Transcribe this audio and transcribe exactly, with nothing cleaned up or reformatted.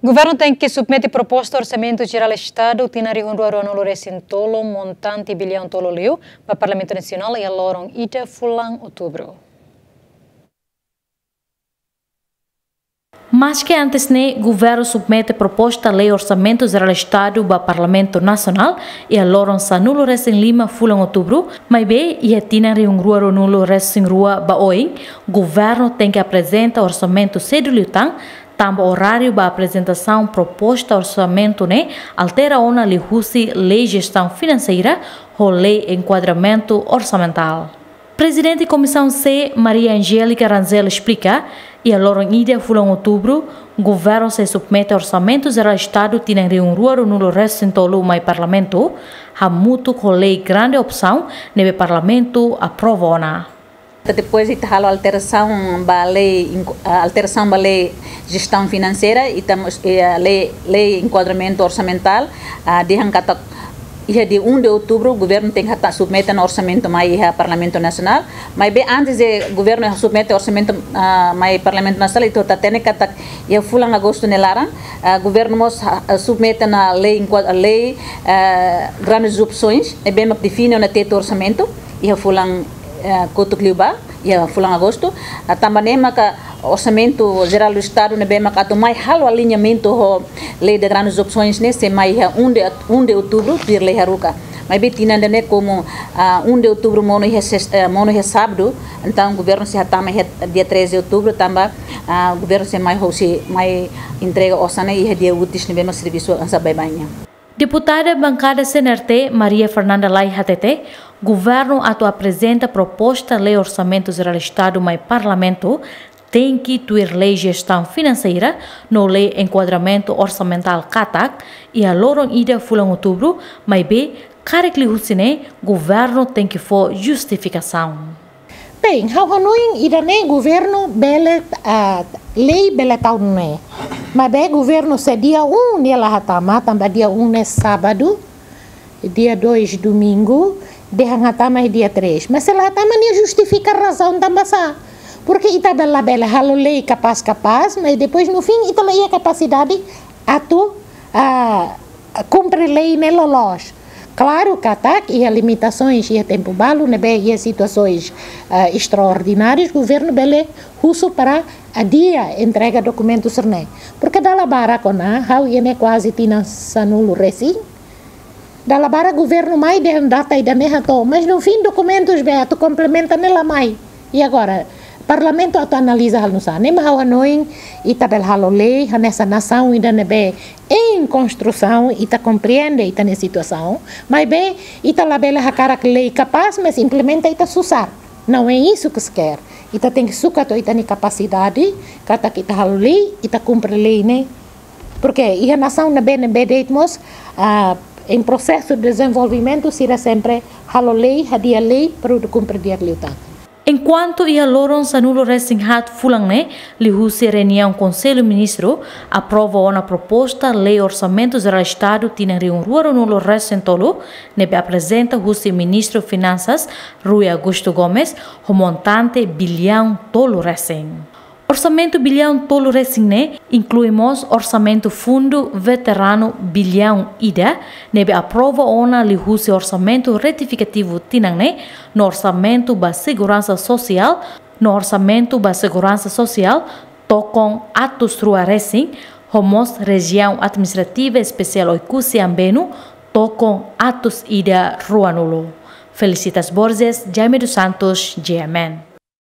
Governu tenke submete proposta Orsamentu Jerál Estadu tinan rihun rua ruanulu resin tolu, montante biliaun tolu liu, ba Parlamentu Nasionál iha loron ida fulan Outubru. Maske antes ne'e, governu submete proposta lei Orsamentu Jerál Estadu ba Parlamentu Nasionál iha loron sanulu resin lima fulan Outubru, maibé iha tinan rihun rua ruanulu resin rua ba oin, governu tenke aprezenta orsamentu sedu liután, tanba oráriu ba aprezentasaun proposta orsamentu ne'e altera ona liuhusi Lei Jestaun Finanseira ho Lei Enkuadramentu Orsamentál. Prezidente Komisaun C, Maria Angélica Rangel esplika, iha loron ida fulan Outubru, governu sei submete Orsamentu Jerál Estadu tinan rihun rua ruanulu resin tolu mai Parlamentu, hamutuk ho Lei Grande Opsaun ne'ebé Parlamentu aprova ona. Depois ita halo alterasaun ba lei, inku-, ah, alterasaun ba Lei Jestaun Finanseira, ita mós, eh, lei, Lei Enkuadramentu Orsamentál, ah, dehan katak iha dia um de outubro, governu tenke hata-, submete ona orsamentu mai iha Parlamentu Nasionál. Maibé antes de governu submete orsamentu, ah, mai Parlamentu Nasionál, ita hatene katak iha fulan agostu nia laran, ah, governu mós, ah, submete ona lei, enqua-, lei, ah, grandes opções, ne'ebé mak define ona tetu orsamentu iha fulan, ah, kotuk liubá, iha fulan agostu. Ah, tanba ne'e maka Orsamentu Jerál do Estadu ne'ebé maka atu mai halo aliñamentu ho Lei de Grandes Opções ne'e sei mai iha um de, um de outubro, tuir lei haruka. Maibé tinan ida-ne'e komu, ah, um de outubro monu iha sesta, eh, monu iha sábadu, entaun governu sei hatama iha dia treze de outubro, tanba, ah, governu sei mai hosi, mai entrega osan ne'e iha dia úteis ne'ebé mak servisu hanesan baibain nian. Deputada Bankada C N R T, Maria Fernanda Lay hatete, governu atu aprezenta proposta lei Orsamentu Jerál Estadu mai Parlamentu, tenke tuir Lei Jestaun Finanseira no Lei Enkuadramentu Orsamentál katak, iha loron ida fulan Outubru, maibé karik liuhusi ne'e, governu tenke fó justifikasaun. Bem, ha'u hanoin ida-ne'e governu bele, ah, lei bele tau nune'e. Maibé governu se dia um nia la hatama, tanba dia um ne'e sábadu, dia dois domingu, dehan hatama iha dia três. Mas se la hatama nia justifika razaun tanba sá. Porque ita bele, bele halo lei kapás-kapás, mas depois no fim ita la iha kapasidade atu, ah, kumpre lei ne'e loloos. Klaru katak iha limitasoens, iha tempu balu ne'ebé iha situasoens, ah, estraordinárias, governu bele husu para adia entrega dokumentu sira-ne'e. Porque dala barak ona, ha'u iha ne'e kuaze tinan sanulu resin. Dala barak governu mai dehan data ida-ne'e hato'o, mas no fim dokumentus be atu komplementa ne'e la mai. E agora, Parlamentu atu analiza halo nu'usá? Ne'e mak ha'u hanoin, ita bele halo lei, hanesan nasaun ida ne'ebé em construção, ita komprende ita-nia situasaun, maibé ita labele hakarak lei kapás, mas implementa ita susar. Não é isso que se quer. Ita tenke sukat ho ita-nia kapasidade, katak ita halo lei, ita kumpre lei ne'e. Porque iha nasaun ne'ebé, ne'ebé de'it mós, ah, em processo de desenvolvimento, sira sempre halo lei, hadi'a lei, para atu kumpre di'ak liután. Enkuantu iha loron sanulu resin haat fulan ne'e, liuhusi reuniaun Konsellu Ministru, aprova ona proposta Lei Orsamentu Jerál Estadu tinan rihun rua ruanulu resin tolu, ne'ebé aprezenta husi Ministru Finansas, Rui Augusto Gomes, ho montante biliaun tolu resin. Orsamentu biliaun tolu resin ne'e inklui mós orsamentu fundu veteranu biliaun ida, ne'ebé aprova ona liuhusi orsamentu retifikativu tinan ne'e, no orsamentu ba seguransa sosiál, no orsamentu ba seguransa sosiál, tokon atus rua resin, ho mós Rejiaun Administrativa Espesiál Oekusi Ambenu, tokon atus ida ruanulu. Felicitas Borges, Jaime dos Santos, G M N.